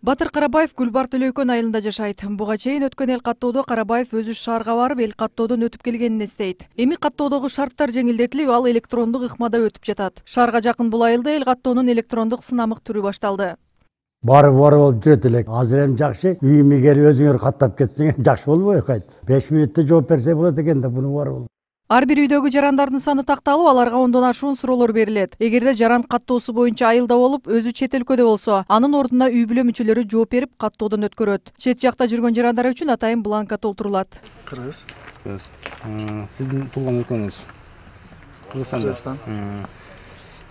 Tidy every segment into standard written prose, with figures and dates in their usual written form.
Батыр Карабаев Гүлбар Төлөйкөн айылында жашайт. Буга чейин өткөн эл каттоодо Карабаев өзү шаарга барып, эл каттоодон өтүп келгенин эстейт. Эми каттоодогу шарттар жеңилдетилип, ал электрондук ыкмада өтүп жатат. Шаарга жакын бул айылда эл каттоонун электрондук сынамык түрү башталды. Бары болуп жүрөт элек. Азыр эми жакшы. Үйүмө келип өзүңөр каттап кетсең жакшы болбойбу кайт. 5 мүнөттө жооп берсе болот экен да, буну бары болуп. Ар бир үйдөгү жарандардын саны такталып, аларга ондон ашуун суроолор берилет. Эгерде жаран каттоосу боюнча айылда болуп, өзү чет өлкөдө болсо, анын ордуна үй бүлө мүчөлөрү жооп берип, каттоодон өткөрөт. Чет жакта жүргөн жарандар үчүн атайын бланка толтурулат. Кыргыз. Сиздин туулган өлкөңүз? Кыргызстан.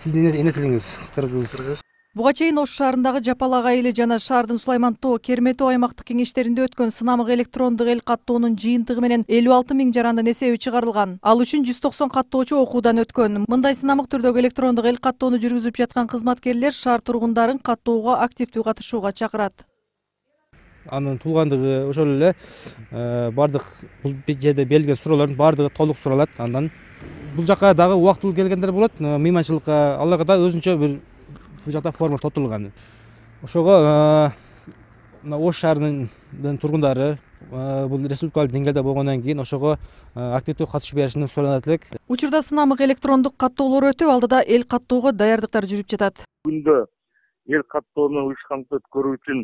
Сиздин эне тилиңиз? Кыргыз. Буга чейин Ош шаарындагы Жапалак айылы жана шаардын Сулайман тоо, Керметөө аймактык кеңештеринде өткөн сынамык электрондук эл каттоонун жыйынтыгы менен 56 000 жарандын эсеби чыгарылган. Ал үчүн 190 каттоочу окуудан өткөн. Мындай сынамык түрдөгү электрондук эл каттоону жүргүзүп жаткан кызматкерлер шаар тургундарын каттоого активдүү катышууга чакырат. Анын туулгандыгы ошол эле бардык бул жерде берилген суроолордун бардыгы толук суралат. Андан бул жака дагы убактылуу келгендер болот. Мыйманчылыкка аларга да өзүнчө бир бул жакта форма толтурулган. Ошого Ош шаарынын тургундары бул республикалык деңгээлде болгондон кийин ошого активдүү катышып беришин суранат элек. Учурда сынамык электрондук каттоолор өтүп, алдыда эл каттоого даярдыктар жүрүп жатат. Күндө эл каттоону уюшкандырып өткөрүү үчүн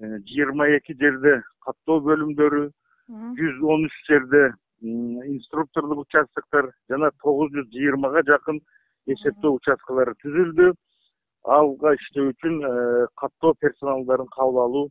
22 жерде каттоо бөлүмдөрү, 113 жерде инструкторлук участоктор жана 920га жакын эсептөө участкалары түзүлдү. Алга иштөө үчүн каттоо персоналдарын кабыл алуу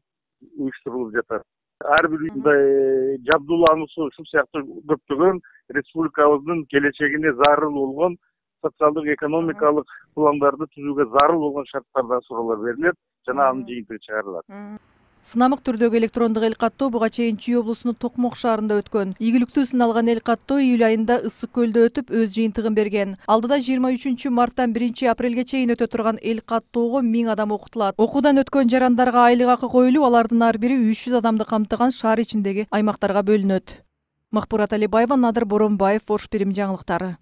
уюштурулуп жатат. Ар бир мындай жабдуулануусу ушул сыяктуу көптөгөн республикабыздын келечегине зарыл болгон социалдык экономикалык пландарды түзүүгө зарыл болгон шарттардан суроолор берилет жана анын жыйынтыгы чыгарылат. Сынамык түрдөгү электрондук эл каттоо буга чейин Чүй облусунун Токмок шаарында өткөн. Ийгиликтүү сыналган эл каттоо июль айында Ысык көлдө өтүп, өз жыйынтыгын берген. Алдыда 23 марттан 1 апрелге чейин өтө турган эл каттоого 1000 адам окутулат. Окуудан өткөн жарандарга айлык акы коюлуп, алардын ар бири 300 адамды камтыган шаар ичиндеги аймактарга бөлүнөт. Махпурат Алибаева, Надыр Боронбаев, Ош Бирим жаңылыктары.